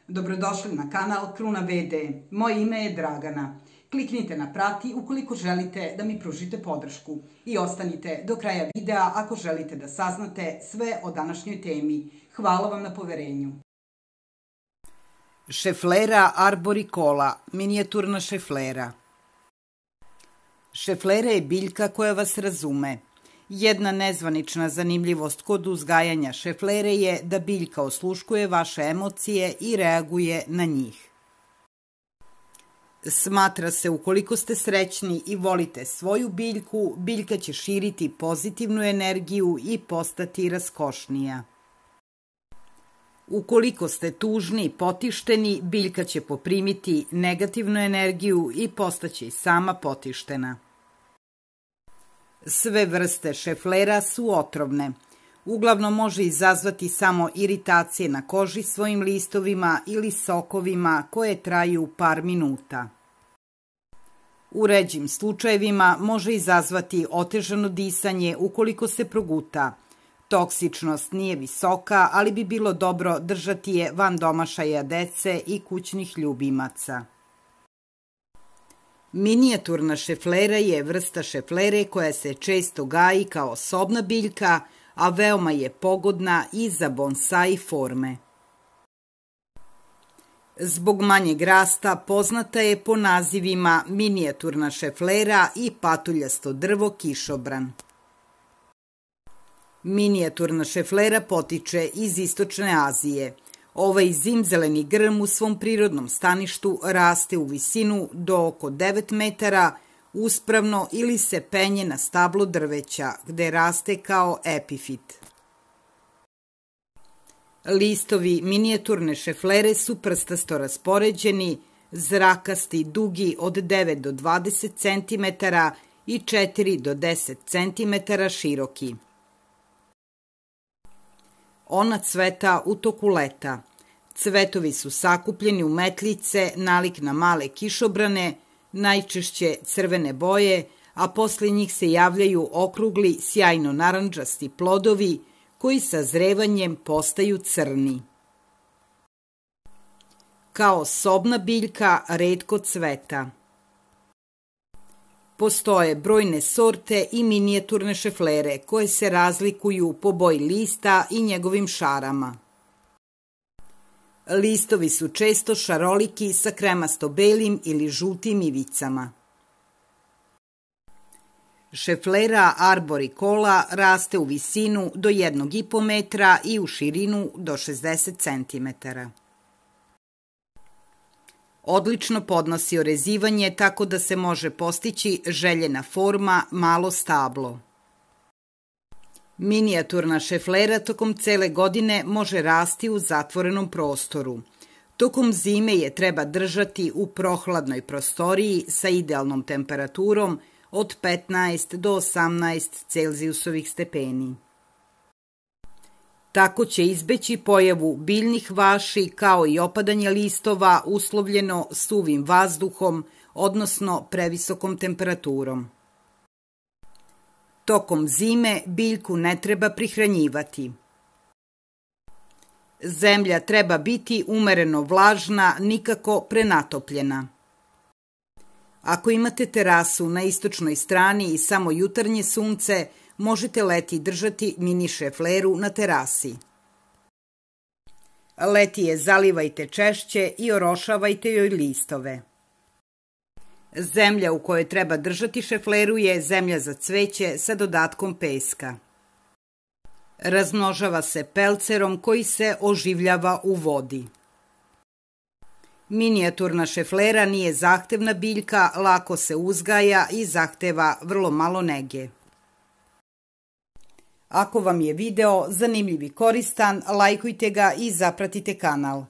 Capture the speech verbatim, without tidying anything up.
Dobrodošli na kanal Kruna V D. Moje ime je Dragana. Kliknite na prati ukoliko želite da mi pružite podršku i ostanite do kraja videa ako želite da saznate sve o današnjoj temi. Hvala vam na poverenju. Šeflera arboricola, minijaturna šeflera. Šeflera je biljka koja vas razume. Jedna nezvanična zanimljivost kod uzgajanja šeflere je da biljka osluškuje vaše emocije i reaguje na njih. Smatra se ukoliko ste srećni i volite svoju biljku, biljka će širiti pozitivnu energiju i postati raskošnija. Ukoliko ste tužni i potišteni, biljka će poprimiti negativnu energiju i postaće sama potištena. Sve vrste šeflera su otrovne. Uglavnom može izazvati samo iritacije na koži svojim listovima ili sokovima koje traju par minuta. U ređim slučajevima može izazvati otežano disanje ukoliko se proguta. Toksičnost nije visoka, ali bi bilo dobro držati je van domašaja dece i kućnih ljubimaca. Minijaturna šeflera je vrsta šeflere koja se često gaji kao sobna biljka, a veoma je pogodna i za bonsai forme. Zbog manjeg rasta poznata je po nazivima minijaturna šeflera i patuljasto drvo kišobran. Minijaturna šeflera potiče iz Istočne Azije. Ovaj zimzeleni grm u svom prirodnom staništu raste u visinu do oko devet metara uspravno ili se penje na stablo drveća, gde raste kao epifit. Listovi minijaturne šeflere su prstasto raspoređeni, zrakasti, dugi od devet do dvadeset centimetara i četiri do deset centimetara široki. Ona cveta u toku leta. Cvetovi su sakupljeni u metljice nalik na male kišobrane, najčešće crvene boje, a posle njih se javljaju okrugli, sjajno narandžasti plodovi koji sa zrevanjem postaju crni. Kao sobna biljka retko cveta. Postoje brojne sorte i minijaturne šeflere koje se razlikuju po boji lista i njegovim šarama. Listovi su često šaroliki sa kremasto-belim ili žutim ivicama. Šeflera arboricola raste u visinu do jednog i po metra i u širinu do šezdeset centimetara. Odlično podnosi orezivanje tako da se može postići željena forma malo stablo. Minijaturna šeflera tokom cele godine može rasti u zatvorenom prostoru. Tokom zime je treba držati u prohladnoj prostoriji sa idealnom temperaturom od petnaest do osamnaest celzijusovih stepeni. Tako će izbeći pojavu biljnih vaši kao i opadanje listova uslovljeno suvim vazduhom, odnosno previsokom temperaturom. Tokom zime biljku ne treba prihranjivati. Zemlja treba biti umereno vlažna, nikako prenatopljena. Ako imate terasu na istočnoj strani i samo jutarnje sunce, možete leti držati mini šefleru na terasi. Leti je zalivajte češće i orošavajte joj listove. Zemlja u kojoj treba držati šefleru je zemlja za cveće sa dodatkom peska. Razmnožava se pelcerom koji se oživljava u vodi. Minijaturna šeflera nije zahtevna biljka, lako se uzgaja i zahteva vrlo malo nege. Ako vam je video zanimljiv i koristan, lajkujte ga i zapratite kanal.